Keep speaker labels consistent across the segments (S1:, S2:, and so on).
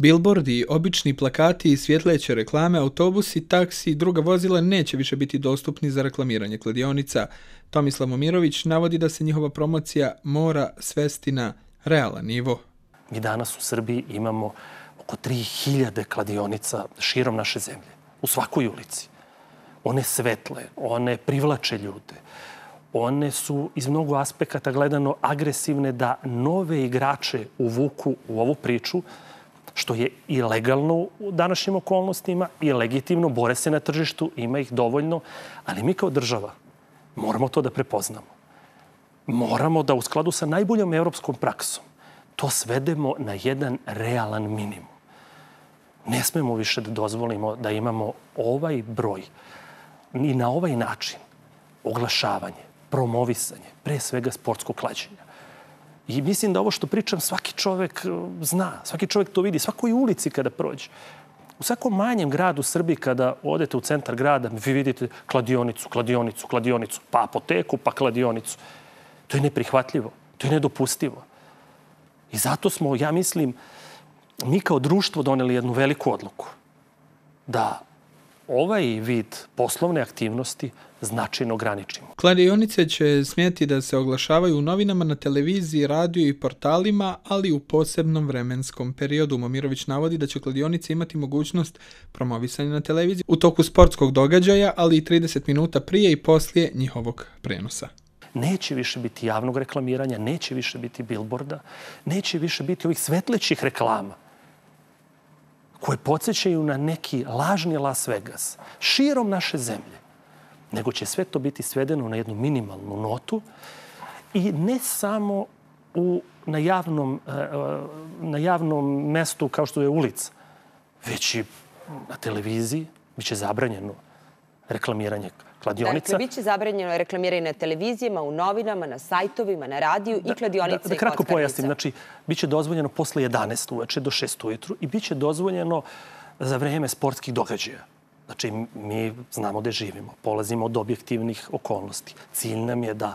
S1: Bilbordi, obični plakati i svjetleće reklame, autobusi, taksi i druga vozila neće više biti dostupni za reklamiranje kladionica. Tomislav Momirović navodi da se njihova promocija mora svesti na realan nivo.
S2: Mi danas u Srbiji imamo oko 3000 kladionica širom naše zemlje, u svakoj ulici. One svetle, one privlače ljude. One su iz mnogo aspekata gledano agresivne da nove igrače uvuku u ovu priču, što je i legalno u današnjim okolnostima i legitimno, bore se na tržištu, ima ih dovoljno, ali mi kao država moramo to da prepoznamo. Moramo da u skladu sa najboljom evropskom praksom to svedemo na jedan realan minimum. Ne smemo više da dozvolimo da imamo ovaj broj i na ovaj način oglašavanje, promovisanje, pre svega sportskog klađenja. I mislim da ovo što pričam svaki čovek zna, svaki čovek to vidi, svakoj ulici kada prođe. U svakom manjem gradu u Srbiji kada odete u centar grada, vi vidite kladionicu, kladionicu, kladionicu, pa apoteku, pa kladionicu. To je neprihvatljivo, to je nedopustivo. I zato smo, ja mislim, mi kao društvo doneli jednu veliku odluku da ovaj vid poslovne aktivnosti značajno ograničimo.
S1: Kladionice će smjeti da se oglašavaju u novinama, na televiziji, radiju i portalima, ali u posebnom vremenskom periodu. Momirović navodi da će kladionice imati mogućnost promovisanja na televiziji u toku sportskog događaja, ali i 30 minuta prije i poslije njihovog prenosa.
S2: Neće više biti javnog reklamiranja, neće više biti bilborda, neće više biti ovih svetlećih reklama koje podsjećaju na neki lažni Las Vegas širom naše zemlje, nego će sve to biti svedeno na jednu minimalnu notu i ne samo na javnom mestu kao što je ulica, već i na televiziji biće zabranjeno reklamiranje kladionica.
S3: Dakle, biće zabranjeno reklamiranje na televizijama, u novinama, na sajtovima, na radiju i kladionica i kockarnica.
S2: Da kratko pojasnim, znači, biće dozvoljeno posle 11 uveče do 6 ujutru i biće dozvoljeno za vreme sportskih događaja. Znači, mi znamo gde živimo, polazimo od objektivnih okolnosti. Cilj nam je da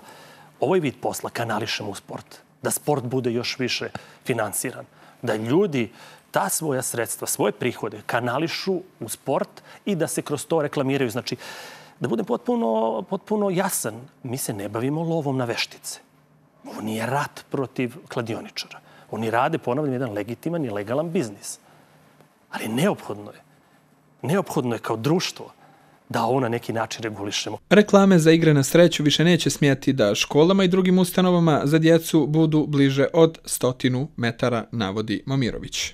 S2: ovaj vid posla kanališemo u sport, da sport bude još više finansiran, da ljudi ta svoja sredstva, svoje prihode kanališu u sport i da se kroz to reklamiraju. Znači, da budem potpuno jasan, mi se ne bavimo lovom na veštice. Ovo nije rat protiv kladioničara. Oni rade, ponavljam, jedan legitiman i legalan biznis. Ali neophodno je kao društvo da ovo na neki način regulišemo.
S1: Reklame za igre na sreću više neće smjeti da školama i drugim ustanovama za djecu budu bliže od 100 metara, navodi Momirović.